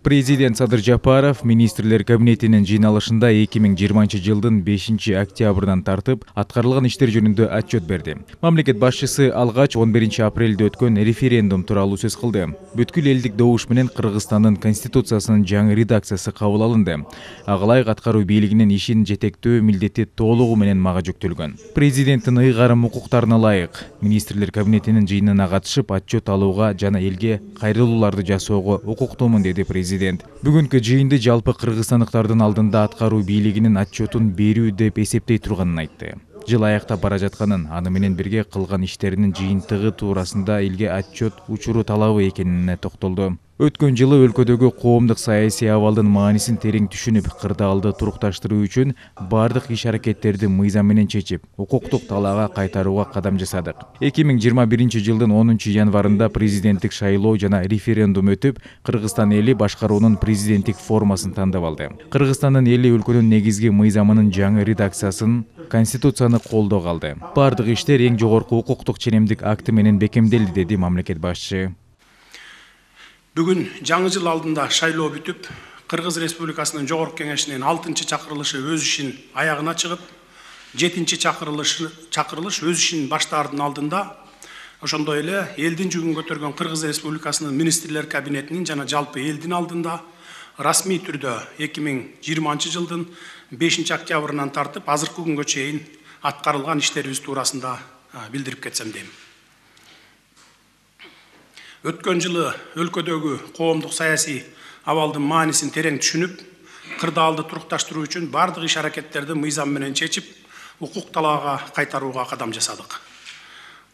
Президент Садыр Жапаров министрлер кабинетинин жыйналышында 2020 жылдын 5 октябрынан тартып аткарылган иштер жөнүндө отчет берди. Мамлекет башчысы алгач 11 апрелде өткөн референдум тууралуу сөз кылды. Бүткүл элдик добуш менен Кыргызстандын конституциясынын жаңы редакциясы кабыл алынды. Ага ылайык аткаруу бийлигинин ишин жетектөө милдети толугу менен мага жүктөлгөн. Президенттин ыйгарым укуктарына ылайык министрлер кабинетинин жыйынына катышып отчет алууга жана элге кайрылууларды жасоого укуктуумун, деди президент. Бүгүнкү жыйынды жалпы кыргызстандыктардын алдында аткаруу бийлигинин отчетун берүү деп эсептей турганын айтты. Жыл аяктап бара жатканын, аны менен бирге кылган иштеринин жыйынтыгы туурасында элге отчет учуру талабы экенине токтолду. Өткөн жылы өлкөдөгү коомдук саясий абалдын маанисин терең түшүнүп, кырдаалды турукташтыруу үчүн бардык иш-аракеттерди мыйзам менен чечип, укуктук талаага кайтарууга кадам жасадык. 2021 жылдын 10 январында президенттик шайлоо жана референдум өтүп, Кыргызстан эли башкаруунун президенттик формасын тандап алды. Кыргызстандын эли өлкөнүн негизги мыйзамынын жаңы редакциясын, конституцияны колдоого алды. Бардык иштер эң жогорку укуктук ченемдик акты менен бекемделди, деди мамлекет башчысы. Бүгүн жаңы жыл алдында шайлоо бүтүп, Кыргыз Республикасынын Жогорку Кеңешинин 6-чакырылышы өз ишин аягына чыгып, 7-чакырылыш өз ишин баштаардын алдында, ошондой эле элдин жүгүн көтөргөн Кыргыз Республикасынын министрлер кабинетинин жана жалпы элдин алдында расмий түрдө 2020 жылдын 5 октябрынан тартып азыркы күнгө чейин аткарылган иштерибиз туурасында билдирип кетсем дейм. Өткөн жылы өлкөдөгү коомдук саясий абалдын маанисин терең түшүнүп, кырдаалды турукташтыруу үчүн бардык иш-аракеттерди мыйзам менен чечип, укук талаага кайтарууга кадам жасадык.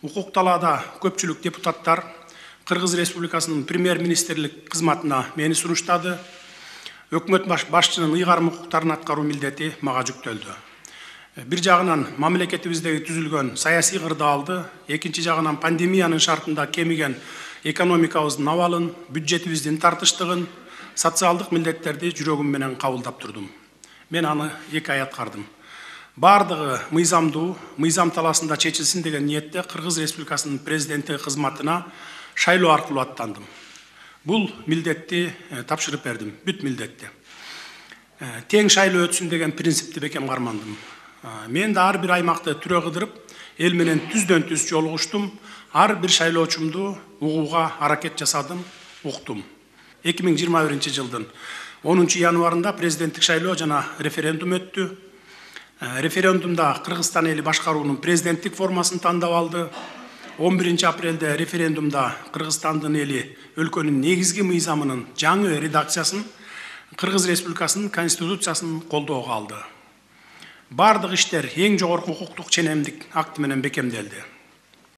Укук талаада көпчүлүк депутаттар Кыргыз Республикасынын премьер-министрлик кызматына мени сунуштады. Өкмөт башчынын ыйгарым укуктарын аткаруу милдети мага жүктөлдү. Бир жагынан мамлекетибиздеги түзүлгөн саясий кырдаалды, экинчи жагынан пандемиянын шартында кемиген экономикабыздын абалын, бюджетибиздин тартыштыгын, социалдык милдеттерди жүрөгүм менен кабылдап турдум. Мен аны 2 ай аткардым. Бардыгы мыйзамдуу, мыйзам талаасында чечилсин деген ниетте Кыргыз Республикасынын президенти кызматына шайлоо аркылуу аттандым. Бул милдетти тапшырып бердим, бүт милдетти. Тең шайлоо өтсүн деген принципти бекем кармандым. Мен да ар бир аймакты түрө кыдырып, эл менен түздөн түз жолугуштум. Ар бир шайлоочумду угууга аракет жасадым, уктум. 2021 жылдын 10 январында президенттик шайлоо жана референдум өттү. Референдумда Кыргызстан эли башкаруунун президенттик формасын тандап алды. 11 апрелде референдумда Кыргызстандын эли өлкөнүн негизги мыйзамынын жаңы редакциясын, Кыргыз Республикасынын конституциясын колдоого алды. Бардык иштер эң жогорку укуктук ченемдик акты менен бекемделди.